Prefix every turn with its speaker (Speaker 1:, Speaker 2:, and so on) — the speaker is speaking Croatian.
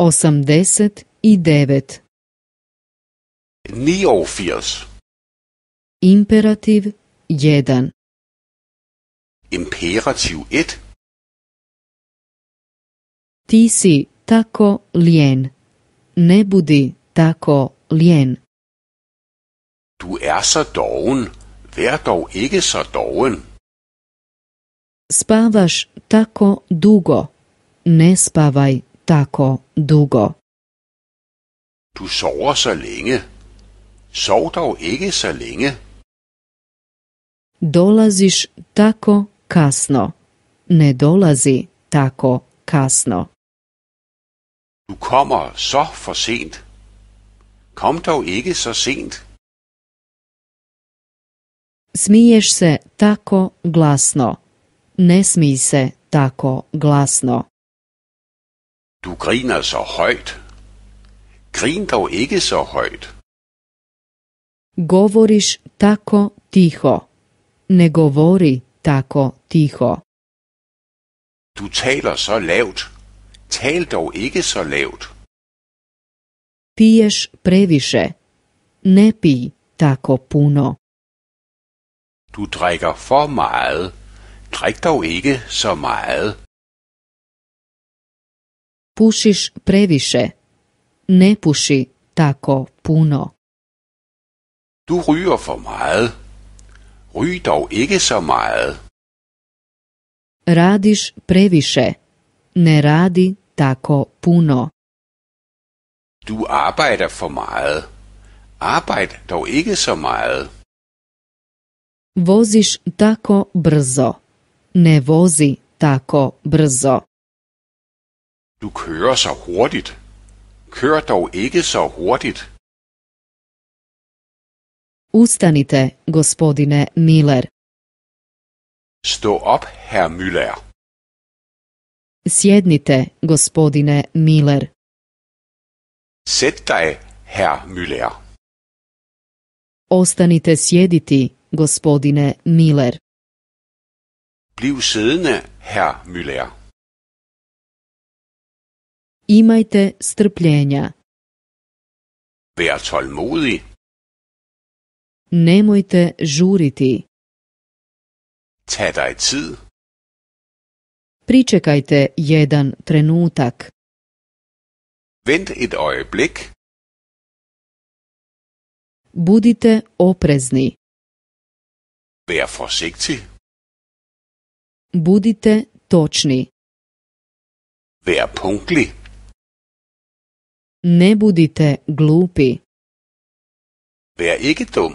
Speaker 1: 89.
Speaker 2: 89.
Speaker 1: Imperativ 1.
Speaker 2: Imperativ 1.
Speaker 1: Ti si tako lijen. Ne budi tako lijen.
Speaker 2: Du så doven. Vær dog ikke så doven.
Speaker 1: Spavaš tako dugo. Ne spavaj tako dugo.
Speaker 2: Du sover så længe. Sov dog ikke så længe.
Speaker 1: Dolaziš tako kasno. Ne dolazi tako kasno.
Speaker 2: Du kommer så for sent. Kom dog ikke så sent.
Speaker 1: Smiješ se tako glasno. Ne smij se tako glasno.
Speaker 2: Du griner så højt. Grin dog ikke så højt.
Speaker 1: Govoriš tako tiho. Ne govori tako tiho.
Speaker 2: Du taler så lavt. Tal dog ikke så lavt.
Speaker 1: Piješ previše. Ne pij tako puno.
Speaker 2: Du drikker for meget. Drik dog ikke så meget.
Speaker 1: Pušiš previše. Ne puši tako puno.
Speaker 2: Du ryger for meget. Ryg dog ikke så meget.
Speaker 1: Radiš previše. Ne radi tako puno.
Speaker 2: Du arbejder for meget. Arbejd dog ikke så meget.
Speaker 1: Voziš tako brzo. Ne vozi tako brzo.
Speaker 2: Du kører så hurtigt. Kør dog ikke så hurtigt.
Speaker 1: Ustanite, gospodine Miller.
Speaker 2: Stå op, herr Müller.
Speaker 1: Sjednite, gospodine Miller.
Speaker 2: Sæt dig, herr Müller.
Speaker 1: Ostanite sjediti, gospodine Miller.
Speaker 2: Bliv siddende, herr Müller.
Speaker 1: Imajte strpljenja.
Speaker 2: Vær tålmodig.
Speaker 1: Nemojte žuriti.
Speaker 2: Tag dig tid.
Speaker 1: Pričekajte jedan trenutak.
Speaker 2: Vent et øjeblik.
Speaker 1: Budite oprezni.
Speaker 2: Vær forsigtig.
Speaker 1: Budite točni.
Speaker 2: Vær punktlig.
Speaker 1: Ne budite glupi.
Speaker 2: Vær ikke dum.